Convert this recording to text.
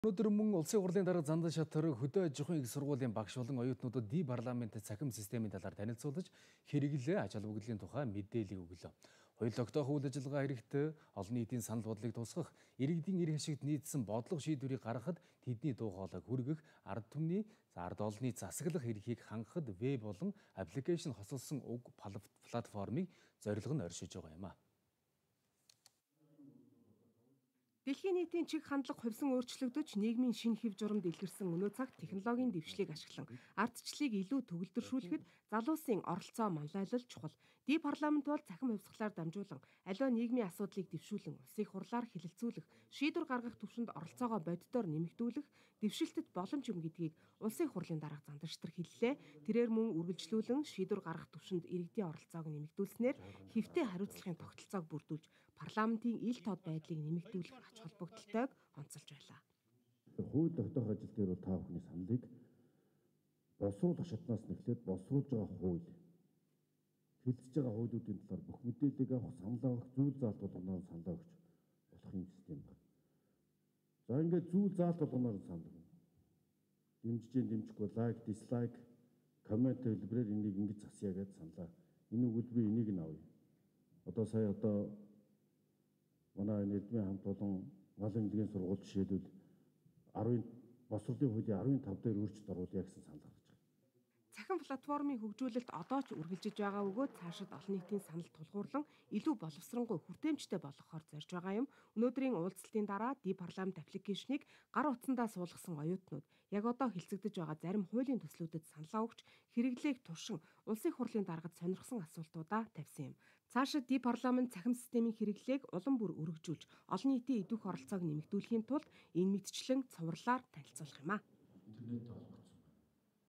Өнөөдөр мөн улсын хурлын дарга Зандан шатар хөдөө аж ахуйн их сургуулийн багш болон оюутнуудад парламент цахим системийн талаар танилцуулж хэрэглээ аж холбогдлын тухай мэдээлэл өглөө. Хоёул тогтоох үйл ажиллагаа хэрэгт олон нийтийн санал бодлыг тусгах, иргэдийн эр ашигт нийцсэн бодлого шийдвэрийг гаргахад тэдний дуу хоолойг хүргэх, ард түмний ард олонний засаглах эрхийг хангахад веб болон аппликейшн хослолсон уг платформыг зорилго нь оршиж байгаа юм а. Дэлхийн нийтийн чиг хандлага хувьсан өөрчлөгдөж нийгмийн шинэ хэв журамд илэрсэн өнөө цагт технологийн дэвшлиг ашиглан ардчлалыг илүү төгөлдршүүлэхэд залуусын оролцоо манлайлал чухал. Парламент бол цахим хувьсгалаар дамжуулан аливаа нийгмийн асуудлыг дэвшүүлэн улсын хурлаар хэлэлцүүлэх, шийдвэр гаргах түвшинд оролцоогоо боддоор нэмэгдүүлэх дэвшилтэд боломж юм гэдгийг улсын хурлын дарга Зандан шатар хэллээ. Тэрээр мөн үргэлжлүүлэн шийдвэр гаргах түвшинд иргэдийн оролцоог нэмэгдүүлснээр хэвтэй хариуцлагын тогтолцоог бүрдүүлж парламентын ил тод байдлыг нэмэгдүүлэх ач холбогдолтойг онцолж байлаа. Хууль тогтоох ажил дээр бол та бүхний саналыг босруул хашаатнаас нэхлээд босруулж байгаа хууль, хэлцэж байгаа хуулиудын талаар бүх мэдээллийг авах, санал авах, зүйл заалт болгоноор санал өгч болох юм систем байна. За ингээд зүйл заалт болгоноор санал өгнө. Дэмжихгүй лайк, дислайк, коммент хэлбэрээр энийг ингэж засъя гэж саналаа. Энэ үгэл би энийг нь авъя. Сая манай Эрдмийн хамт болон гал эмнэлгийн сургууль жишээлбэл 10 босролын хуулийн 15 дээр өөрчлөлт оруулъя гэсэн санал гаргаж байгаа. Цахим платформын хөгжүүлэлт одоо ч үргэлжиж байгаа бөгөөд цаашид олон нийтийн санал тулгуурлан илүү боловсронгуй хүртээмжтэй болгохоор зорж байгаа юм. Өнөөдрийн уулзалтын дараа парламент аппликейшнийг гар утсандаа суулгасан оюутнууд яг одоо хэлцэгдэж байгаа зарим хуулийн төслүүдэд саналаа өгч хэрэглээг туршин улсын хурлын даргад сонирхсон асуултуудаа тавьсан юм. Цаашид парламент цахим системийн хэрэглээг улам бүр өргөжүүлж олон нийтийн идвэх оролцоог нэмэгдүүлэхийн тулд энэ мэдчлэн цувралаар танилцуулах юм а.